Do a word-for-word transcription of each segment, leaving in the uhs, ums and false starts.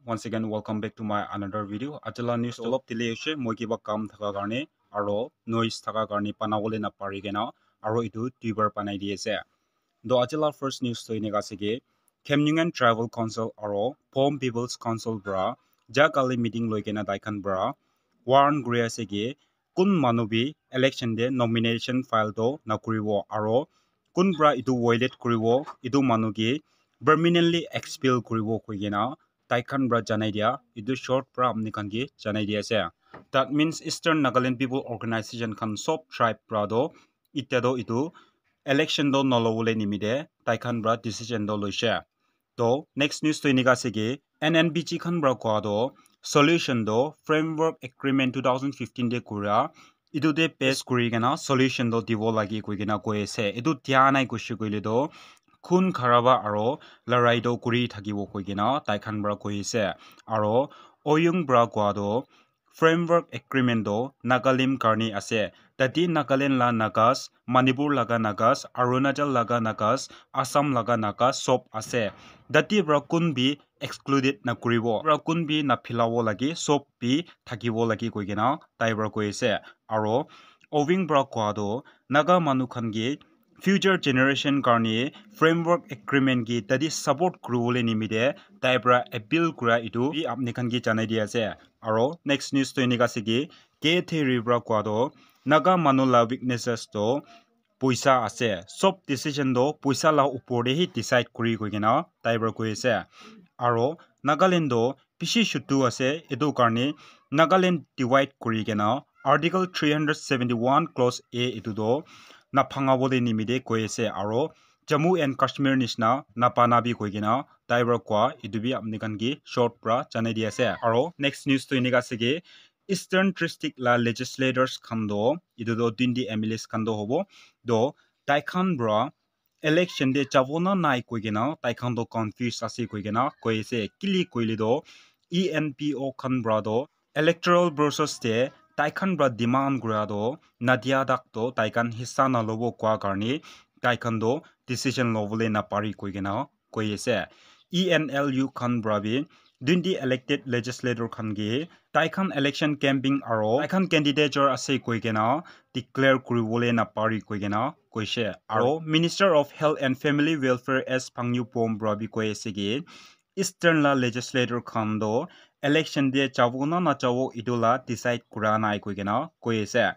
Once again, welcome back to my another video. Aji la news olop delay hoise, moi kiba kam thaka karne aro noise thaka karne banabole na pari kena aro etu duibar banai di ase. To aji la first news to enika ase ki, Khemnungan Tribal Council aro Phom People's Council pra ja kali meeting loi kena tai khan pra warn kuri ase ki, kun manu bi election te nomination file to nakuribo aro kun pra etu violate kuribo, etu manu ke permanently expel kuribo koi kena tai khan pra janai dia, etu short pra apni khan ke janai dia ase. That means Eastern Nagaland People Organization khan sob tribe pra to itya to etu election to nolobole nimite tai khan pra decision to loise. To next news to enika ase ki N N B G khan pra koa to solution to framework agreement two thousand fifteen te kura etu te pass kuri kena solution to dibo lagi koi kena koi ase. Etu dia nai kushi koile to khun kharaba aro larai to kuri thakibo koi kena tai khan pra koi ase. Aro Oyung pra koa to framework agreement to Nagalim karni ase. Tati Nagaland la Nagas, Manipur laga Nagas, Arunachal laga Nagas, Assam laga Nagas sob ase. Tati pra kun bi excluded nakuribo. Pra kun bi naphilabo lagi, sob bi thakibo lagi koi kena tai pra koi ase. Aro Owing pra koa to Naga manu khan ke future generation karne framework agreement ke tadi support kuribole nimite tai pra appeal kura etu bi apni khan ke janai di ase. Aro next news to enika ase ki K Theory pra koa to Naga manu la weaknesses to poisa ase. Sob decision to poisa la upor te hi decide kuri koi kena tai pra koi ase. Aro Nagaland to bishi chutu ase, etu karne Nagaland divide kuri kena Article three hundred seventy-one clause A etu to naphangabole nimite koi ase aro Jammu and Kashmir nishna napana bi koi kena tai pra koa etu bi apni khan ke short pra janai di ase. Aro next news to enika ase ki Eastern District la legislators khan to etu to twenty M L As khan to hobo to tai khan pra election te jabo na nai koi kena tai khan to confuse ase koi kena koi ase. Kile koile to E N P O khan pra to electoral process te tai khan pra demand kura to nadia tak to tai khan hissa nalobo koa karne tai khan to decision lobole napari koi kena koi ase. E N L U khan pra bi twenty elected legislator khan ke tai khan election camping aro tai khan candidature ase koi kena declare kuribole napari koi kena koise. Aro Minister of Health and Family Welfare S Pangyu Pom pra bi koi ase ki Eastern la legislator khan to election te jabo na najabo etu la decide kura nai koi kena koi ase.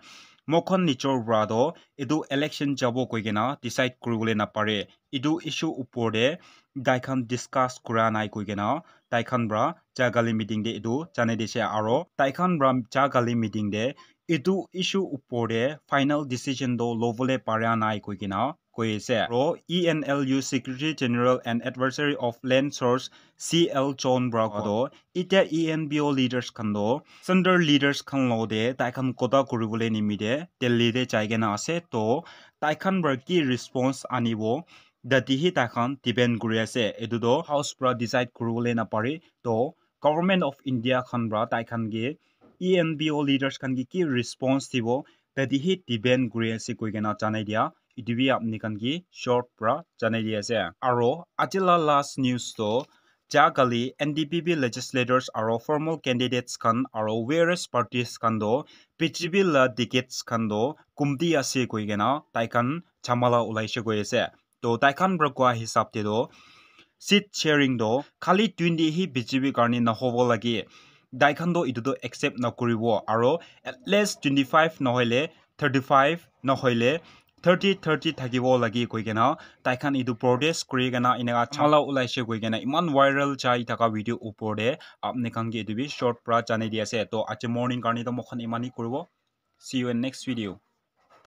Mokhan nijor pra to etu election jabo koi kena decide kuribole napare. Etu issue upor te tai khan discuss kura nai koi kena tai khan pra ja kali meeting te etu janai dise aro tai khan pra ja kali meeting te etu issue upor te final decision to lobole para nai koi kena koi ase. Aro E N L U Secretary General and Adversary of Land Source C L John pra koa to itya E N P O leaders khan to center leaders khan logote tai khan kotha kuribole nimite Delhi te jai kena ase. To tai khan pra ki response anibo tati hi tai khan depend kuri ase. Etu to house pra decide kuribole napare. To Government of India khan pra tai khan ke E N P O leaders khan ke ki response dibo tati hi depend kuri ase koi kena janai dia. Etu bi apni khan ke short pra janai di ase. Aro aji la last news to ja kali N D P P legislators aro formal candidates khan aro various parties khan to B J P la tickets khan to kumti ase koi kena tai khan chamala ulaise koi ase. To tai khan pra koa hisab te to seat sharing to khali twenty hi B J P karne nahobo lage. Tai khan to etu to accept nakuribo aro at least twenty five nohoile thirty five nohoile thirty thirty thakibo lage koi kena tai khan etu protest kuri kena eneka chamala ulaise koi kena eman viral jai thaka video upor te apni khan ke etu bi short pra janai di ase. To aji morning karne to mokhan eman hi kuribo. See you in next video.